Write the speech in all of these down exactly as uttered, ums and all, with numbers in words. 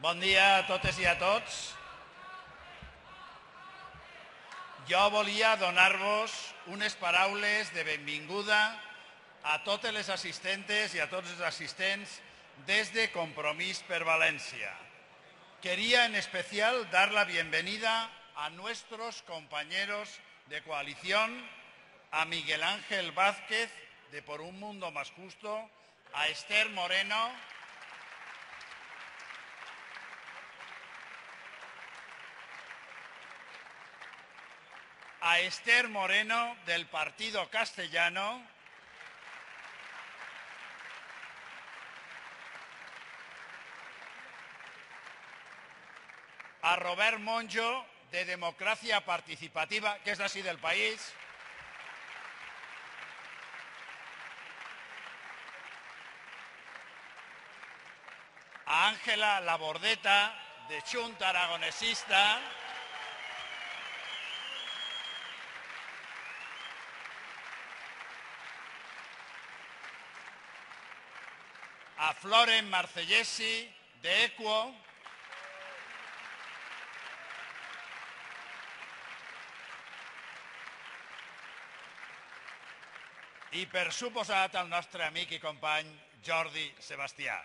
Bon dia a totes i a tots. Jo volia donar-vos unes paraules de benvinguda a totes les assistentes i a tots els assistents des de Compromís per Valencia. Quería en especial dar la bienvenida a nuestros compañeros de coalición, a Miguel Ángel Vázquez, de Por un Mundo Más Justo, a Esther Moreno, a Esther Moreno, del Partido Castellano, a Robert Monjo, de Democracia Participativa, que és d'ací del país, a Ángela Labordeta, de Xunta Aragonesista, a Floren Marcellesi, de Equo, i per suposat al nostre amic i company Jordi Sebastià.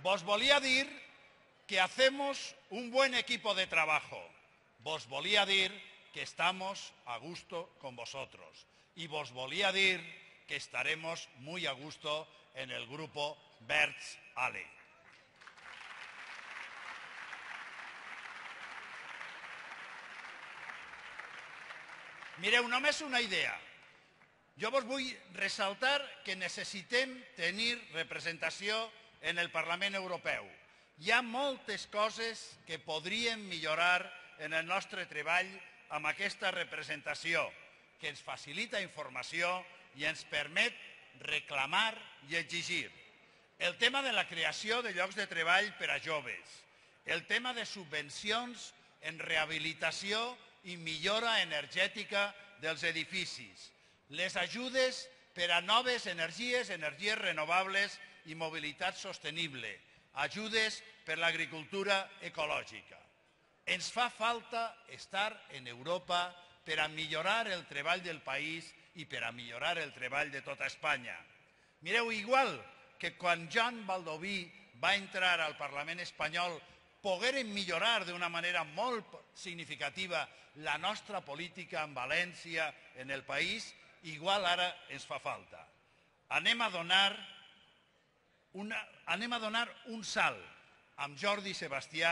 Vos volia dir que hacemos un buen equipo de trabajo. Vos volía dir que estamos a gusto con vosotros. Y vos volía dir que estaremos muy a gusto en el grupo Verds Ale. Mireu, només una idea. Jo vos vull ressaltar que necessitem tenir representació en el Parlament Europeu. Hi ha moltes coses que podríem millorar en el nostre treball amb aquesta representació, que ens facilita informació i ens permet reclamar i exigir. El tema de la creació de llocs de treball per a joves, el tema de subvencions en rehabilitació i millora energètica dels edificis, les ajudes per a noves energies, energies renovables i mobilitat sostenible, ajudes per a l'agricultura ecològica. Ens fa falta estar en Europa per a millorar el treball del país i per a millorar el treball de tota Espanya. Mireu, igual que quan Joan Baldoví va entrar al Parlament espanyol pogueren millorar d'una manera molt significativa la nostra política en València, en el país, igual ara ens fa falta. Anem a donar Una, anem a donar un salt amb Jordi Sebastià,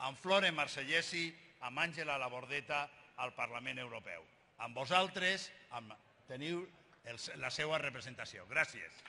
amb Flore Marcellesi, amb Àngela Labordeta al Parlament Europeu. Amb vosaltres amb, teniu el, la seva representació. Gràcies.